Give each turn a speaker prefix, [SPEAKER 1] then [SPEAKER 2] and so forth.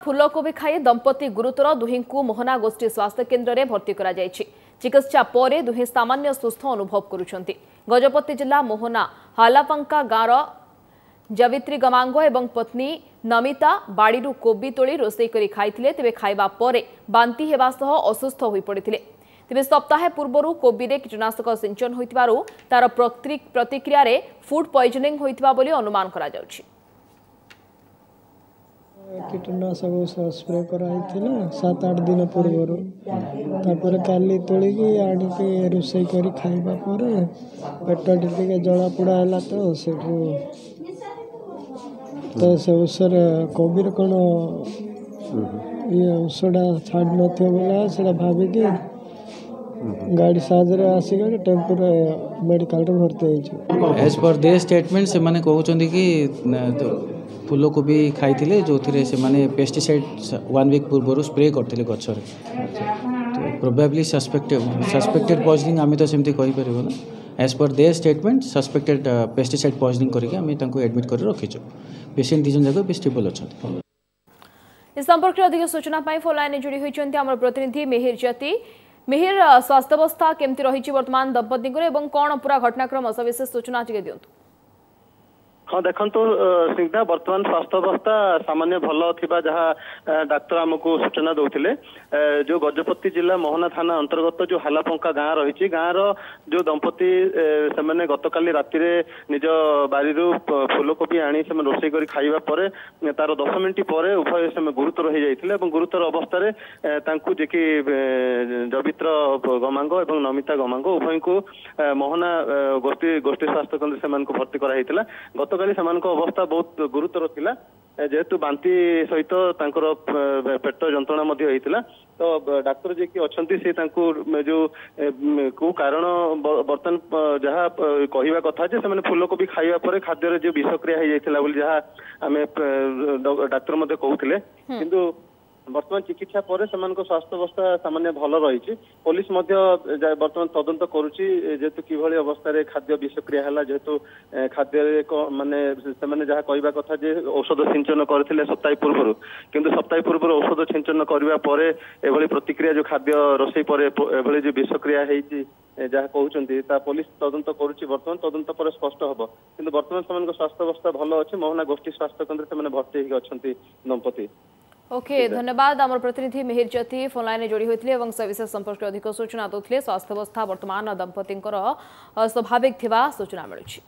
[SPEAKER 1] ଫୁଲକୋବି ଖାଇ ଦମ୍ପତି ଗୁରୁତର। ଦୁହିଁଙ୍କୁ ମୋହନା ଗୋଷ୍ଠୀ ସ୍ୱାସ୍ଥ୍ୟ କେନ୍ଦ୍ରରେ ଭର୍ତ୍ତି କରାଯାଇଛି। ଚିକିତ୍ସା ପରେ ଦୁହେଁ ସାମାନ୍ୟ ସୁସ୍ଥ ଅନୁଭବ କରୁଛନ୍ତି। ଗଜପତି ଜିଲ୍ଲା ମୋହନା ହାଲାପଙ୍କା ଗାଁର ଜବିତ୍ରୀ ଗମାଙ୍ଗ ଏବଂ ପତ୍ନୀ ନମିତା ବାଡ଼ିରୁ କୋବି ତୋଳି ରୋଷେଇ କରି ଖାଇଥିଲେ। ତେବେ ଖାଇବା ପରେ ବାନ୍ତି ହେବା ସହ ଅସୁସ୍ଥ ହୋଇପଡ଼ିଥିଲେ। ତେବେ ସପ୍ତାହେ ପୂର୍ବରୁ କୋବିରେ କୀଟନାଶକ ସିଞ୍ଚନ ହୋଇଥିବାରୁ ତାର ପ୍ରତିକ୍ରିୟାରେ ଫୁଡ୍ ପଏଜନିଂ ହୋଇଥିବା ବୋଲି ଅନୁମାନ କରାଯାଉଛି।
[SPEAKER 2] କୀଟନାଶକ ଔଷଧ ସ୍ପ୍ରେ କରାହେଇଥିଲା 7-8 ଦିନ ପୂର୍ବରୁ। ତାପରେ କାଲି ତୋଳିକି ଆଣିକି ରୋଷେଇ କରି ଖାଇବା ପରେ ପେଟଟି ଟିକେ ଜଳାପୋଡ଼ା ହେଲା। ତ ସେଠୁ ତ ସେ ଔଷଧରେ କୋବିରେ କ'ଣ ଇଏ ଔଷଧଟା ଛାଡ଼ି ନଥିବ ବୋଲେ ସେଇଟା ଭାବିକି ଗାଡ଼ି ସାହାଯ୍ୟରେ ଆସିକି ଟେମ୍ପୋରେ ମେଡ଼ିକାଲରେ ଭର୍ତ୍ତି ହେଇଛୁ।
[SPEAKER 3] ଏଜ୍ ପର୍ there statement, ସେମାନେ କହୁଛନ୍ତି କି ଫୁଲକୋବି ଖାଇଥିଲେ, ଯେଉଁଥିରେ ସେମାନେ ପେଷ୍ଟିସାଇଡ଼୍ 1 ୱିକ୍ ପୂର୍ବରୁ ସ୍ପ୍ରେ କରିଥିଲେ ଗଛରେ। ତ ପ୍ରୋବାବ୍ଲି ସସ୍ପେକ୍ଟେଡ଼ ପଏଜନିଂ, ଆମେ ତ ସେମିତି କହିପାରିବୁ ନା। As per their statement, suspected pesticide poisoning କରିକି ଆମେ ତାଙ୍କୁ ଆଡ଼ମିଟ୍ କରି ରଖିଛୁ। ପେସେଣ୍ଟ 2 ଜଣ ଯାକ ଏବେ ଷ୍ଟେବଲ୍ ଅଛନ୍ତି।
[SPEAKER 1] ଏ ସମ୍ପର୍କରେ ଅଧିକ ସୂଚନା ପାଇଁ ଫୋନ୍ ଲାଇନରେ ଯୋଡ଼ି ହୋଇଛନ୍ତି ଆମର ପ୍ରତିନିଧି ମିହିର ଜ୍ୟୋତି। ମିହିର, ସ୍ୱାସ୍ଥ୍ୟାବସ୍ଥା କେମିତି ରହିଛି ବର୍ତ୍ତମାନ ଦମ୍ପତିଙ୍କର ଏବଂ କ'ଣ ପୁରା ଘଟଣାକ୍ରମ, ସବିଶେଷ ସୂଚନା ଟିକେ ଦିଅନ୍ତୁ।
[SPEAKER 4] ହଁ, ଦେଖନ୍ତୁ ସ୍ନିଗ୍ଧା, ବର୍ତ୍ତମାନ ସ୍ୱାସ୍ଥ୍ୟ ଅବସ୍ଥା ସାମାନ୍ୟ ଭଲ ଥିବା ଯାହା ଡାକ୍ତର ଆମକୁ ସୂଚନା ଦଉଥିଲେ। ଯୋଉ ଗଜପତି ଜିଲ୍ଲା ମୋହନା ଥାନା ଅନ୍ତର୍ଗତ ଯୋଉ ହାଲାପଙ୍କା ଗାଁ ରହିଛି, ଗାଁର ଯୋଉ ଦମ୍ପତି, ସେମାନେ ଗତକାଲି ରାତିରେ ନିଜ ବାରିରୁ ଫୁଲକୋବି ଆଣି ସେମାନେ ରୋଷେଇ କରି ଖାଇବା ପରେ ତାର 10 ମିନିଟ୍ ପରେ ଉଭୟ ସେମାନେ ଗୁରୁତର ହେଇଯାଇଥିଲେ ଏବଂ ଗୁରୁତର ଅବସ୍ଥାରେ ତାଙ୍କୁ, ଯିଏକି ଜବିତ୍ର ଗମାଙ୍ଗ ଏବଂ ନମିତା ଗମାଙ୍ଗ, ଉଭୟଙ୍କୁ ମୋହନା ଗୋଷ୍ଠୀ ଗୋଷ୍ଠୀ ସ୍ୱାସ୍ଥ୍ୟ କେନ୍ଦ୍ର ସେମାନଙ୍କୁ ଭର୍ତ୍ତି କରାଯାଇଥିଲା। ଗତକାଲି ସେମାନଙ୍କ ଅବସ୍ଥା ବହୁତ ଗୁରୁତର ଥିଲା, ଯେହେତୁ ବାନ୍ତି ସହିତ ତାଙ୍କର ପେଟ ଯନ୍ତ୍ରଣା ମଧ୍ୟ ହେଇଥିଲା। ତ ଡାକ୍ତର ଯିଏକି ଅଛନ୍ତି, ସେ ତାଙ୍କୁ ଯୋଉ କୋଉ କାରଣ, ବର୍ତ୍ତମାନ ଯାହା କହିବା କଥା ଯେ ସେମାନେ ଫୁଲକୋବି ଖାଇବା ପରେ ଖାଦ୍ୟରେ ଯୋଉ ବିଷକ୍ରିୟା ହେଇଯାଇଥିଲା ବୋଲି ଯାହା ଆମେ ଡାକ୍ତର ମଧ୍ୟ କହୁଥିଲେ। କିନ୍ତୁ ବର୍ତ୍ତମାନ ଚିକିତ୍ସା ପରେ ସେମାନଙ୍କ ସ୍ୱାସ୍ଥ୍ୟ ଅବସ୍ଥା ସାମାନ୍ୟ ଭଲ ରହିଛି। ପୋଲିସ ମଧ୍ୟ ବର୍ତ୍ତମାନ ତଦନ୍ତ କରୁଛି, ଯେହେତୁ କିଭଳି ଅବସ୍ଥାରେ ଖାଦ୍ୟ ବିଷକ୍ରିୟା ହେଲା, ଯେହେତୁ ଖାଦ୍ୟରେ ମାନେ ସେମାନେ ଯାହା କହିବା କଥା ଯେ ଔଷଧ ସିଞ୍ଚନ କରିଥିଲେ ସପ୍ତାହେ ପୂର୍ବରୁ, କିନ୍ତୁ ସପ୍ତାହେ ପୂର୍ବରୁ ଔଷଧ ସିଞ୍ଚନ କରିବା ପରେ ଏଭଳି ପ୍ରତିକ୍ରିୟା, ଯୋଉ ଖାଦ୍ୟ ରୋଷେଇ ପରେ ଏଭଳି ଯୋଉ ବିଷକ୍ରିୟା ହେଇଛି ଯାହା କହୁଛନ୍ତି, ତା ପୋଲିସ ତଦନ୍ତ କରୁଛି। ବର୍ତ୍ତମାନ ତଦନ୍ତ ପରେ ସ୍ପଷ୍ଟ ହବ, କିନ୍ତୁ ବର୍ତ୍ତମାନ ସେମାନଙ୍କ ସ୍ୱାସ୍ଥ୍ୟ ଅବସ୍ଥା ଭଲ ଅଛି। ମୋହନା ଗୋଷ୍ଠୀ ସ୍ୱାସ୍ଥ୍ୟ କେନ୍ଦ୍ରରେ ସେମାନେ ଭର୍ତ୍ତି ହେଇକି ଅଛନ୍ତି ଦମ୍ପତି।
[SPEAKER 1] ଓକେ, ଧନ୍ୟବାଦ। ଆମର ପ୍ରତିନିଧି ମିହିର ଜ୍ୟୋତି ଫୋନ୍ ଲାଇନରେ ଯୋଡ଼ି ହୋଇଥିଲେ ଏବଂ ସବିଶେଷ ସମ୍ପର୍କରେ ଅଧିକ ସୂଚନା ଦେଉଥିଲେ। ସ୍ୱାସ୍ଥ୍ୟାବସ୍ଥା ବର୍ତ୍ତମାନ ଦମ୍ପତିଙ୍କର ସ୍ୱାଭାବିକ ଥିବା ସୂଚନା ମିଳୁଛି।